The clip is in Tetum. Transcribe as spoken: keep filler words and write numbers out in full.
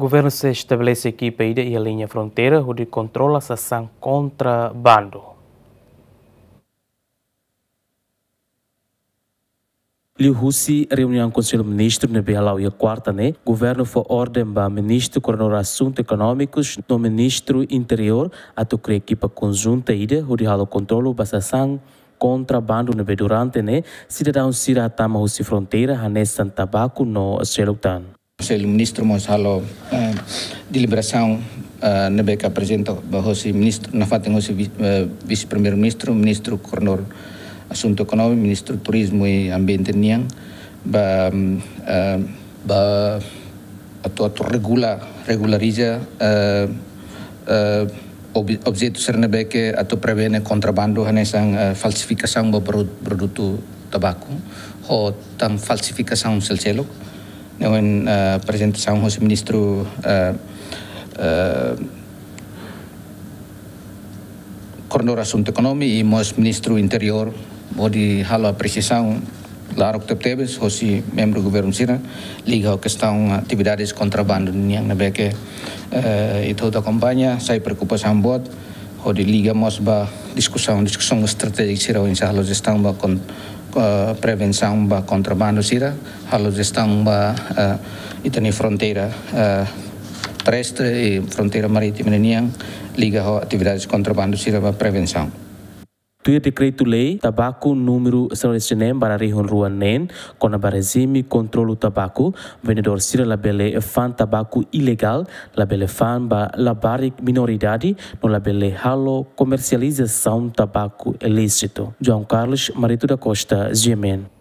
Governu sei estabelese ekipa ida iha liña fronteira hodi kontrola sasán kontrabandu. Liuhusi reuniaun Konsellu Ministru ne'ebé hala'o iha kuarta ne'e, governu fó orden ba Ministru Koordenadór Asuntu Ekonómikus no Ministru Interiór atu kria ekipa konjunta ida hodi halo kontrolu ba sasán kontrabandu ne'ebé durante ne'e sidadaun sira hatama husi fronteira hanesan tabaku no seluk tan. Konsellu Ministru mós halo, eh, deliberasaun, eh, ne'ebé ke aprezenta ba hosi ministru, nafatin hosi vi-, eh, Vise-Primeiru-Ministru, Ministru Koordenadór Asuntu Ekonómiku, Ministru Turizmu i Ambiente nian, ba, mm, eh, ba atu, atu regula, regulariza, eh, eh, ob-, objetu sira ne'ebé ke atu prevene kontrabandu hanesan, eh, falsifikasaun ba produ-, produtu tabaku, ho tan falsifikasaun seluk-seluk. Ne'e, eh, aprezentasaun hosi Ministru, eh, eh, Koordenadór Asuntu Ekonómiku i mós Ministru Interiór, hodi halo apresiasaun laran tebetebes hosi membru governu sira, liga ho kestaun atividades kontrabandu nian ne'ebé ke, eh, ita hotu akompaña, sai preokupasaun boot, hodi liga mós ba diskusaun, diskusaun estratéjika sira oinsá halo jestaun ba kon-, eh, prevensaun ba kontrabandu sira, halo jestaun ba, eh, ita-nia fronteira, eh, terrestre i fronteira marítima nian, liga ho atividades kontrabandu sira ba prevensaun. Tuir dekretu-lei tabaku númeru sanulu-resin-neen barra rihun rua neen, kona-ba rejime kontrolu tabaku, vendedór sira labele fa'an tabaku ilegál, labele fa'an ba labarik minoridade, no labele halo komersializasaun tabaku ilísitu. João Carlos Marito da Costa, G M N.